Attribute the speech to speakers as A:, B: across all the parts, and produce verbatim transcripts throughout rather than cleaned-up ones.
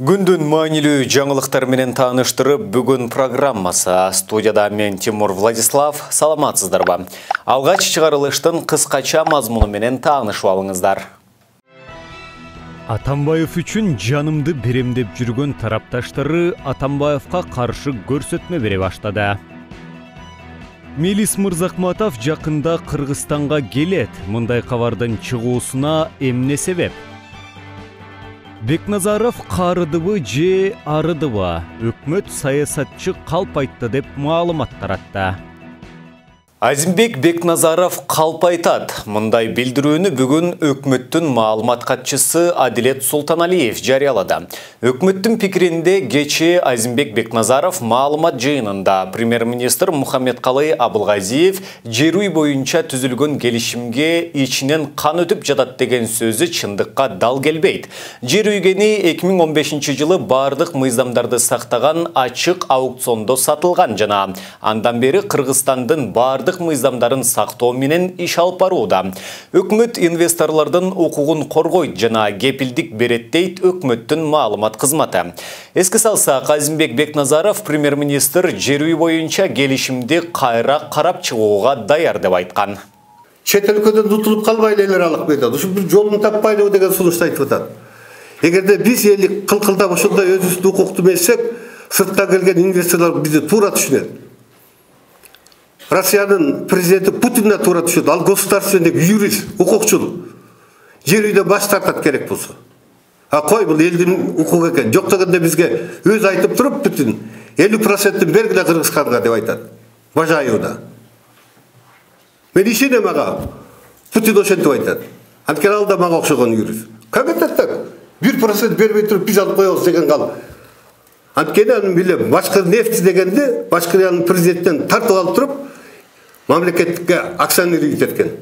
A: Күндүн маанилүү жаңылыктар менен тааныштырып, бүгүн программасы. Студияда мен Тимур Владислав. Саламатсыздарбы? Алгач чыгарылыштын кыскача мазмуну менен таанышып алыңыздар. Атамбаев үчүн жанымды берем деп жүргөн тарапташтары Атамбаевка каршы көрсөтмө бере баштады. Мелис Мырзахматов жакында Кыргызстанга келет. Мындай кабардын чыгуусуна эмне себеп? Бекназаров карыдыбы же арыдыбы? Өкмөт саясатчы калп айтты деп маалымат таратты. Азимбек Бекназаров калп айтат. Мындай билдирүүнү бүгүн өкмөттүн маалымат катчысы Адилет Султаналиев жарыялады. Өкмөттүн пикиринде кечээ Азимбек Бекназаров маалымат жыйынында премьер-министр Мухаммедкалый Абылгазиев жер үй боюнча түзүлгөн келишимге ичинен кан өтүп жатат деген сөзү чындыкка дал келбейт. Жер үйгени эки миң он бешинчи жылы бардык мыйзамдарды сактаган ачык аукциондо сатылган жана андан бери Кыргызстандын бардык мыйзамдарын сактоо менен иш алып барууда. Өкмөт инвесторлордун укугун коргойт жана кепилдик берет дейт өкмөттүн маалымат кызматы. Эске салсак, Азимбек Бекназаров премьер-министр жер үй боюнча келишимди кайра карап чыгууга даяр деп айткан.
B: Чет өлкөдөн утулуп калбайлы элер алып кетет. Ушу бир жолун таппайлы деген сунушту айтып атат. Эгерде биз элик кылкылдап ошондой өзүбүздү укуктуу эмессек, сырттан келген инвесторлор бизди туура түшүнөт. Россиянын президенти Путинден туура түшөт. Ал государственный юрист, укукчул. Жер үйдөн баш тартат керек болсо. А кой, бул элдин укугу экен. Жок дегенде бизге өзү айтып туруп, Путин элүү процентин бергиле Кыргызстанга деп айтат. Бажайыуда. Мен ишенем ага. Путин ошентип айтат. Анткени ал да мага окшогон юрист. Как это так? бир процент бербей туруп биз алып коебуз деген кал. Анткени аны билем, башкы нефть дегенде, башкы президенттен тартып алып туруп, мамлекетке акционерлик эткен.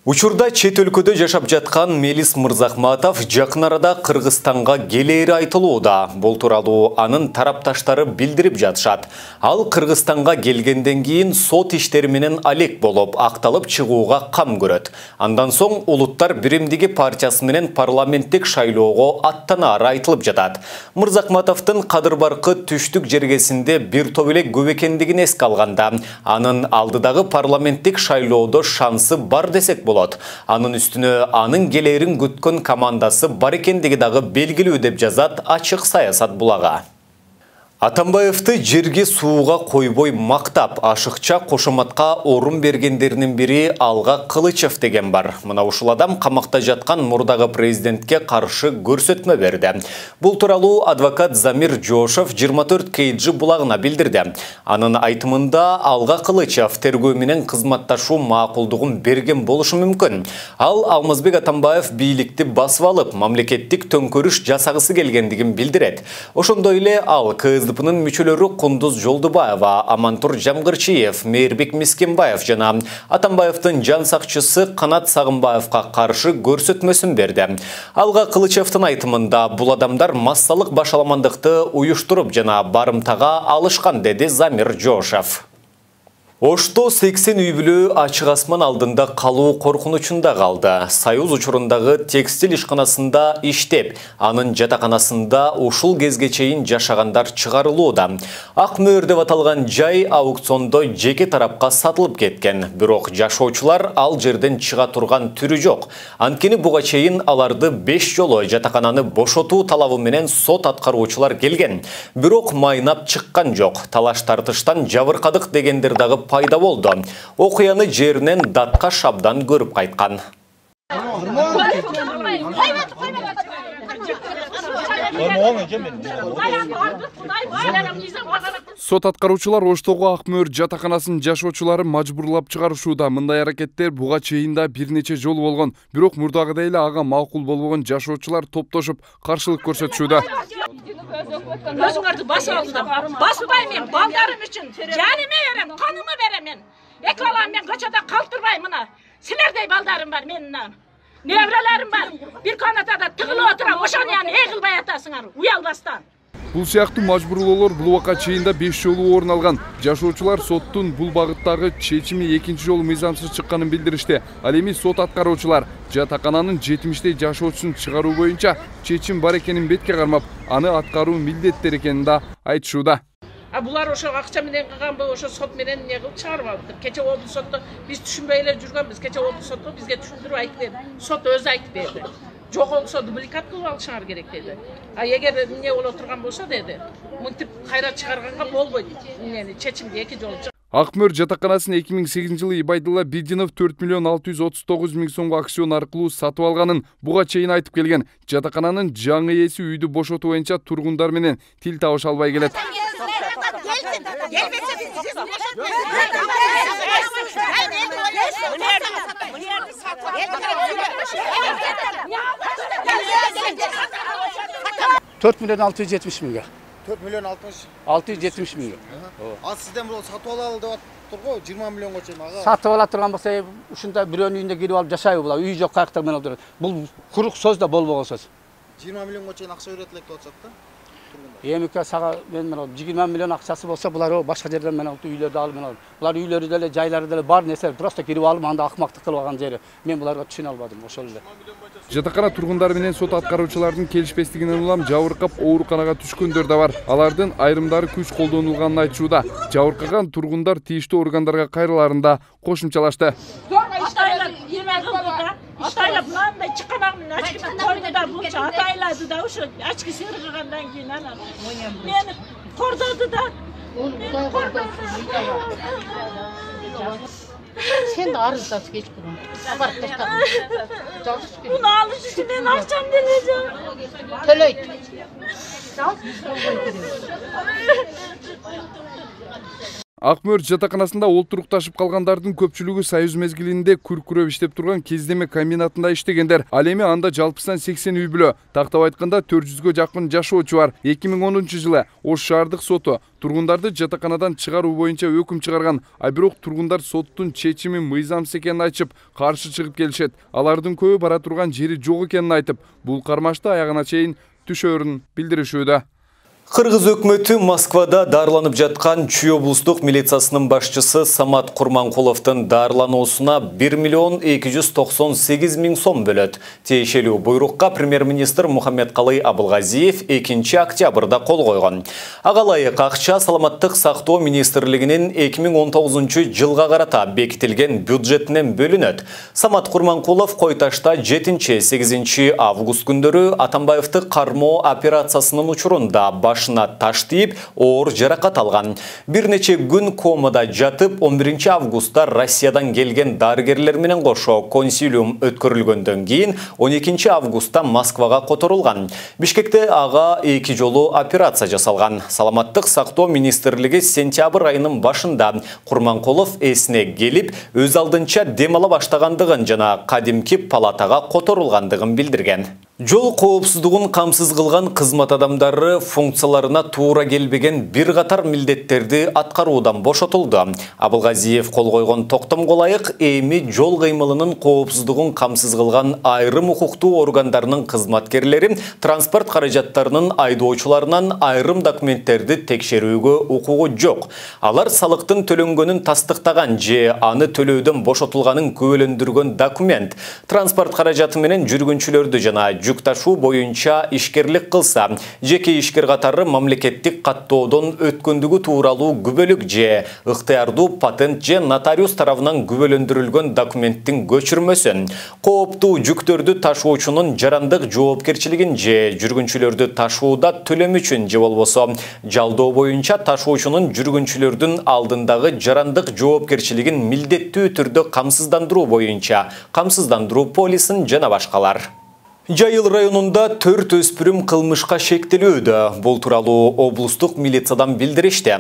A: Учурда чет өлкөдө жашап жаткан Мелис Мырзахматов жакын арада Кыргызстанга келери айтылууда. Бул тууралуу анын тарапташтары билдирип жатышат. Ал Кыргызстанга келгенден кийин сот иштери менен алек болуп, акталып чыгууга кам көрөт. Андан соң Улуттар биримдиги партиясы менен парламенттик шайлоого аттанары айтылып жатат. Мырзахматовдун Кадыр Баркы түштүк жергесинде бир топ эле көп экендигин эске алганда, анын алдыдагы парламенттик шайлоодо шансы бар десек болот. Анын үстүнө анын келерин күткөн командасы бар экендиги дагы белгилүү деп жазат Ачык саясат булагы. Атамбаевты жерге сууга койбой мактап, ашыкча кошоматка орун бергендеринин бири Алга Кылычев деген бар. Мына ушул адам камакта жаткан мурдагы президентке каршы көрсөтмө берди. Бул тууралуу адвокат Замир Жошов жыйырма төрт кей джи булагына билдирди. Анын айтымында Алга Кылычев тергөө менен кызматташуу макулдугун берген болушу мүмкүн. Ал Алмазбек Атамбаев бийликти басып алып, мамлекеттик төңкөрүш жасагысы келгендигин билдирет. Ошондой эле ал КСДПнын мүчөлөрү Кундуз Жолдубаева, Амантур Жамгырчиев, Мейирбек Мискенбаев жана Атамбаевдин жан сакчысы Канат Сагынбаевка каршы көрсөтмөсүн берди. Алга Кылычевдин айтымында бул адамдар массалык башаламандыкты уюштуруп жана барымтага алышкан, деди Замир Жошов. Ошто сексен үй бүлө ачык асман алдында калуу коркунучунда калды. Союз учурундагы текстиль ишканасында иштеп, анын жатаканасында ушул кезге чейин жашагандар чыгарылууда. Ак мөөр деп аталган жай аукциондо жеке тарапка сатылып кеткен. Бирок жашоочулар ал жерден чыга турган түрү жок. Анткени буга чейин аларды беш жолу жатакананы бошотуу талабы менен сот аткаруучулар келген. Бирок майнап чыккан жок. Талаш тартыштан жабыркадык дегендер дагы пайда болду. Окуяны жеринен датка шабдан көрүп кайткан.
C: Сот аткаруучулар Оштогу ак мөөр жатаканасын жашоочулары мажбурлап чыгарышууда. Мындай аракеттер буга чейин да бир нече жолу болгон. Бирок мурдагыдай эле ага макул болбогон жашоочулар топтошуп каршылык көрсөтүшүүдө.
D: Өзүңөрдү басып алдым. Басбай мен балдарым үчүн жаныма берем, каныма берем мен. Эки балам мен көчөдө калтырбай мына. Силердей балдарым бар менин. Неврелерим бар. Бир канатада тыгылып отурам, ошону яны эгилбай атасыңар, уялбастан.
C: Бул сыяктуу мажбурлоолор бул убакка чейин да беш жолу орун алган. Жашоочулар соттун бул багыттагы чечими экинчи жолу мыйзамсыз чыкканын билдиришти. Ал эми сот аткаруучулар жатакананын жетимиштей жашоочусун чыгаруу боюнча чечим бар экенин бетке кармап, аны аткаруу милдеттер экенин да айтышууда.
D: А булар ошо акча менен кылганбы, ошо сот менен эмне кылып чыгарбаптыр. Кече облус сотто биз түшүнбөй эле жүргөнбүз. Кече облус сотто бизге түшүндүрүп айтып берди. Сот өзү айтып берди. Жок болсо дубликат кылып алышыңар керек деди. А эгер эмне боло турган болсо деди, мынтип кайра чыгарганга болбойт. Эмнени чечимди эки жолу.
C: Ак мөр жатаканасын эки миң сегизинчи жылы Ибайдулла Бидинов төрт миллион алты жүз отуз тогуз миң сомго акцион аркылуу сатып алганын буга чейин айтып келген. Жатакананын жаңы ээси үйдү бошотуу боюнча тургундар менен тил табыша албай келет.
E: төрт миллион алты жүз жетимиш миңге.
F: төрт миллион
E: алты жүз жетимиш миңге.
F: А сизден бул сатып алалы деп атыптыр го, жыйырма миллионго чейин ага.
E: Сатып ала турган болсо, ушундай бирөөнүн үйүндө кирип алып жашайбы булар? Үй жок каяктар менен отурат. Бул курук сөз да болбогон сөз.
F: жыйырма миллионго чейин акча берет элек деп атышат да.
E: Эмике сага мен менен жыйырма миллион акчасы болсо, булар башка жерден менен үйлөрдү алып менен. Булар үйлөрү деле, жайлары деле бар нерсе, просто кирип алып анда акмактык кылып алган жери. Мен буларга түшүнө албадым ошол эле.
C: Жатакана тургундары менен сот аткаруучулардын келишпестигинен улам жабыркап ооруканага түшкөндөр да бар. Алардын айрымдары күч колдонулганын айтышууда. Жабыркаган тургундар тийиштүү органдарга кайрылаарында кошумчалашты.
D: Атайлап мындай чыкканагын ачкыдан койду да булча атайлады да ушу ачкы сыргыгандан кийин анан мени кордоду да.
G: Sen de arızası geç kurun. Abarıp taşladın.
D: Bunu alış için ben akşam deneyeceğim.
G: Töleyt.
C: Ак мөр жатаканасында олтурукташып калгандардын көпчүлүгү союз мезгилинде күркүрөп иштеп турган кездеме комбинатында иштегендер. Ал эми анда жалпысынан сексен үй бүлө, тактап айтканда төрт жүзгө жакын жашоочу бар. эки миң онунчу жылы Ош шаардык соту тургундарды жатаканадан чыгаруу боюнча өкүм чыгарган. А бирок тургундар соттун чечими мыйзамсыз экенин айтып, каршы чыгып келишет. Алардын көбү бара турган жери жок экенин айтып, бул кармашты аягына чейин түшөрүн билдиришүүдө.
A: Кыргыз өкмөтү Москвада дарланып жаткан Чүй облустук милициясынын башчысы Самат Курманкуловдун дарлануусуна бир миллион эки жүз токсон сегиз миң сом бөлөт. Тиешелүү буйрукка премьер-министр Мухаммедкалый Абылгазиев экинчи октябрда кол койгон. Ага ылайык акча саламаттык сактоо министрлигинин эки миң он тогузунчу жылга карата бекитилген бюджетинен бөлүнөт. Самат Курманкулов Койташта жетинчи сегизинчи август күндөрү Атамбаевди кармоо операциясынын учурунда баш башына таш тийип, оор жаракат алган. Бир нече күн комада жатып, он биринчи августта Россиядан келген дарыгерлер менен кошо консилиум өткөрүлгөндөн кийин он экинчи августта Москвага которулган. Бишкекте ага эки жолу операция жасалган. Саламаттык сактоо министрлиги сентябрь айынын башында Курманкулов эсине келип, өз алдынча дем ала баштагандыгын жана кадимки палатага которулгандыгын билдирген. Жол коопсуздугун камсыз кылган кызмат адамдары функцияларына туура келбеген бир катар милдеттерди аткаруудан бошотулду. Абылгазиев кол койгон токтомго ылайык эми жол кыймылынын коопсуздугун камсыз кылган айрым укуктуу органдарынын кызматкерлери транспорт каражаттарынын айдоочуларынан айрым документтерди текшерүүгө укугу жок. Алар салыктын төлөнгөнүн тастыктаган же аны төлөөдөн бошотулганын күбөлөндүргөн документ. Транспорт каражаты менен жүргүнчүлөрдү жана жүк ташуу боюнча ишкерлик кылса, жеке ишкер катары мамлекеттик каттоодон өткөндүгү тууралуу күбөлүк же ыктыярдуу патент же нотариус тарабынан күбөлөндүрүлгөн документтин көчүрмөсүн, кооптуу жүктөрдү ташуучунун жарандык жоопкерчилигин же жүргүнчүлөрдү ташууда төлөм үчүн же болбосо жалдоо боюнча ташуучунун жүргүнчүлөрдүн алдындагы жарандык жоопкерчилигин милдеттүү түрдө камсыздандыруу боюнча камсыздандыруу полисин жана башкалар. Жайыл районунда төрт өспүрүм кылмышка шектелүүдө. Бул тууралуу облустук милициядан билдиришти.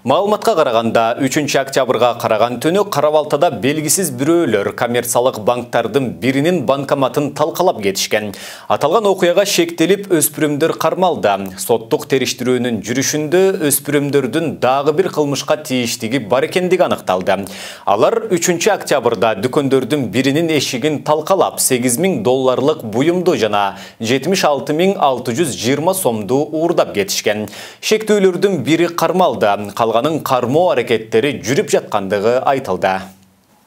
A: Маалыматка караганда үчүнчү октябрга караган түнү Карабалтада белгисиз бирөөлөр коммерциялык банктардын биринин банкоматын талкалап кетишкен. Аталган окуяга шектелип өспүрүмдөр кармалды. Соттук териштирүүнүн жүрүшүндө өспүрүмдөрдүн дагы бир кылмышка тийиштиги бар экендиги аныкталды. Алар үчүнчү октябрда дүкөндөрдүн биринин эшигин талкалап сегиз миң долларлык буюмду жана жетимиш алты миң алты жүз жыйырма сомду уурдап кетишкен. Шектүүлөрдүн бири кармалды, калганын кармоо аракеттери жүрүп жаткандыгы айтылды.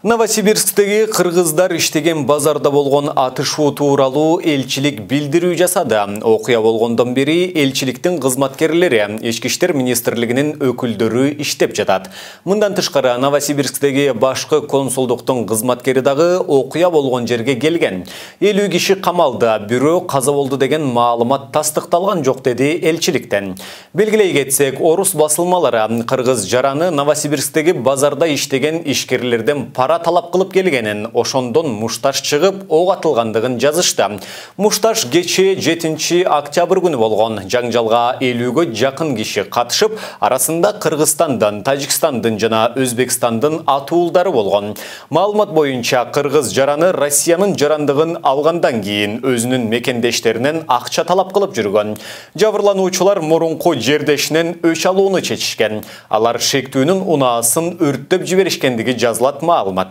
A: Новосибирсктеги кыргыздар иштеген базарда болгон атышуу тууралуу элчилик билдирүү жасады. Окуя болгондон бери элчиликтин кызматкерлери Ички иштер министрлигинин өкүлдөрү иштеп жатат. Мындан тышкары Новосибирсктеги башкы консулдуктун кызматкери дагы окуя болгон жерге келген. элүү киши камалды, бирөө каза болду деген маалымат тастыкталган жок деди элчиликтен. Белгилей кетсек, орус басылмалары кыргыз жараны Новосибирсктеги базарда иштеген ишкерлерден пара талап кылып келгенин, ошондон мушташ чыгып ок атылгандыгын жазышты. Мушташ кечээ жетинчи октябрь күнү болгон. Жаңжалга элүүгө жакын киши катышып, арасында Кыргызстандын, Тажикстандын жана Өзбекстандын атуулдары болгон. Маалымат боюнча кыргыз жараны Россиянын жарандыгын алгандан кийин өзүнүн мекендештеринен акча талап кылып жүргөн. Жабырлануучулар мурунку жердешинен өч алууну чечишкен. Алар шектүүнүн унаасын өрттөп жиберишкендиги жазылат маалымат.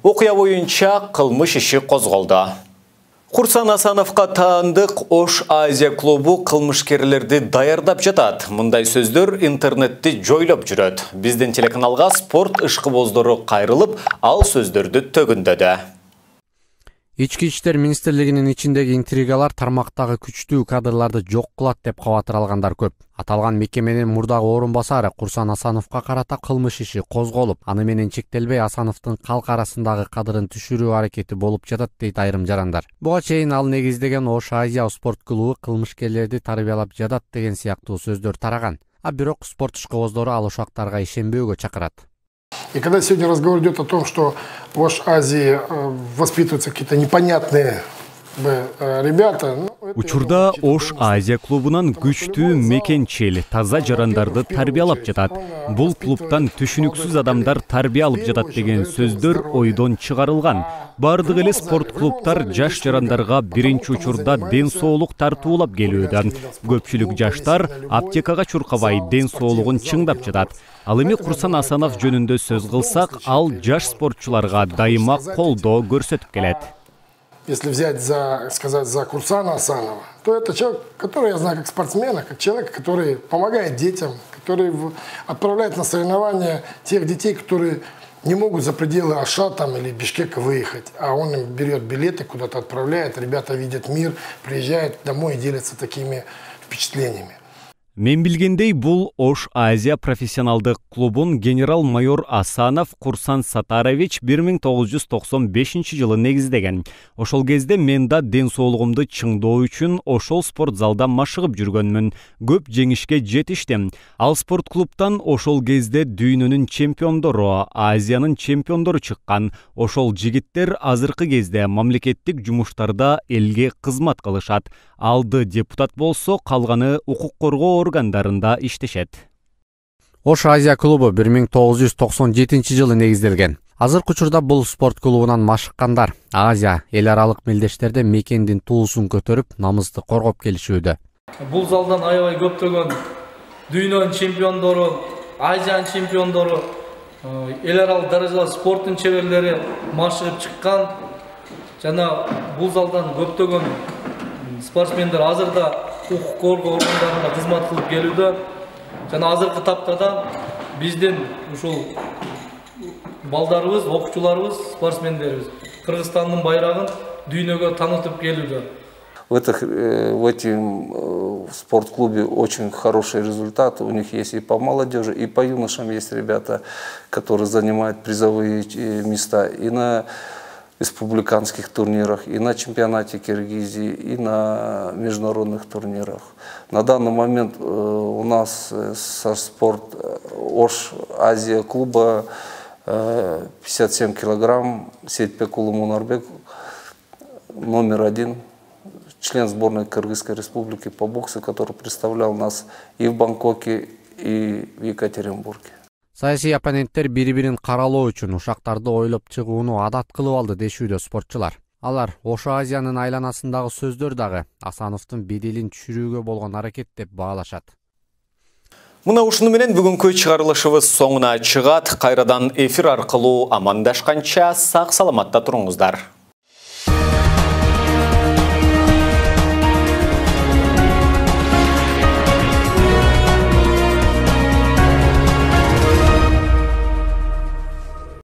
A: Окуя боюнча кылмыш иши козголду. Курсан Асановго таандык Ош Азия клубу кылмышкерлерди даярдап жатат. Мындай сөздөр интернетти жойлоп жүрөт. Биздин телеканалга спорт ышкыбоздору кайрылып, ал сөздөрдү төгүндөдү.
H: Ички иштер министрлигинин ичиндеги интригалар тармактагы күчтүү кадрларды жок кылат деп кабатыр алгандар көп. Аталган мекеменин мурдагы орун басары Курсан Асановго карата кылмыш иши козголуп, аны менен чектелбей Асановдун калк арасындагы кадырын түшүрүү аракети болуп жатат дейт айрым жарандар. Буга чейин ал негиздеген Ош Азия спорт клубу кылмышкерлерди тарбиялап жатат деген сыяктуу сөздөр тараган. А бирок спорт ишкыбоздору ал ушактарга ишенбөөгө чакырат.
I: И когда сегодня разговор идет о том, что в Ош Азии воспитываются какие-то непонятные ребята.
J: Учурда Ош Азия клубунан күчтүү мекенчил, таза жарандарды тарбиялап жатат. Бул клубтан түшүнүксүз адамдар тарбия алып жатат деген сөздөр ойдон чыгарылган. Бардык эле спорт клубтар жаш жарандарга биринчи учурда ден соолук тартуулап келүүдө. Көпчүлүк жаштар аптекага чуркабай ден соолугун чыңдап жатат. Ал эми Курсан Асанов жөнүндө сөз кылсак, ал жаш спортчуларга дайыма колдоо көрсөтүп келет.
I: Если взять за, сказать за Курсана Асанова, то это человек, который я знаю как спортсмена, как человек, который помогает детям, который отправляет на соревнования тех детей, которые не могут за пределы Оша там, или Бишкека выехать, а он им берет билеты, куда-то отправляет, ребята видят мир, приезжают домой и делятся такими впечатлениями.
J: Мен билгендей, бул Ош Азия профессионалдык клубун генерал-майор Асанов Курсан Сатарович бир миң тогуз жүз токсон бешинчи жылы негиздеген. Ошол кезде мен да ден соолугумду чыңдоо үчүн ошол спорт залда машыгып жүргөнмүн. Көп жеңишке жетиштим. Ал спорт клубтан ошол кезде дүйнөнүн чемпиондору, Азиянын чемпиондору чыккан. Ошол жигиттер азыркы кезде мамлекеттик жумуштарда элге кызмат кылышат. Алды депутат болсо, калганы укук коргоо органдарында иштешет.
H: Ош Азия клубу бир миң тогуз жүз токсон жетинчи жылы негизделген. Азыркы учурда бул спорт клубунан машыккандар Азия эл аралык мелдештерде мекендин туусун көтөрүп, намысты коргоп келишүүдө.
K: Бул залдан аябай көптөгөн дүйнөнүн чемпиондору, Азиянын чемпиондору, эл аралык даражалуу спорттун чеберлери машыгып чыккан. Жана бул залдан көптөгөн спортсмендер азырда укук коргоо органдарында кызмат кылып келүүдө. Жана азыркы тапта да биздин ушул балдарыбыз, окуучуларыбыз, спортсмендерибиз Кыргызстандын байрагын дүйнөгө таанытып келүүдө.
L: В, этих, в этом спортклубе очень хороший результат. У них есть и по молодежи, и по юношам есть ребята, которые занимают призовые места и на республиканских турнирах, и на чемпионате Киргизии, и на международных турнирах. На данный момент у нас со спорт Ош Азия клуба пятьдесят семь килограмм, Сейтбекулы Мунарбек, номер один, член сборной Кыргызской республики по боксу, который представлял нас и в Бангкоке, и в Екатеринбурге.
H: Саясий оппоненттер бири-бирин каралоо үчүн ушактарды ойлоп чыгууну адат кылып алды дешүүдө спортчулар. Алар Ош Азиянын айланасындагы сөздөр дагы Асановдун беделин түшүрүүгө болгон аракет деп баалашат.
A: Мына ушуну менен бүгүнкү чыгарылышыбыз соңуна чыгат. Кайрадан эфир аркылуу амандашканча сак саламатта туруңуздар.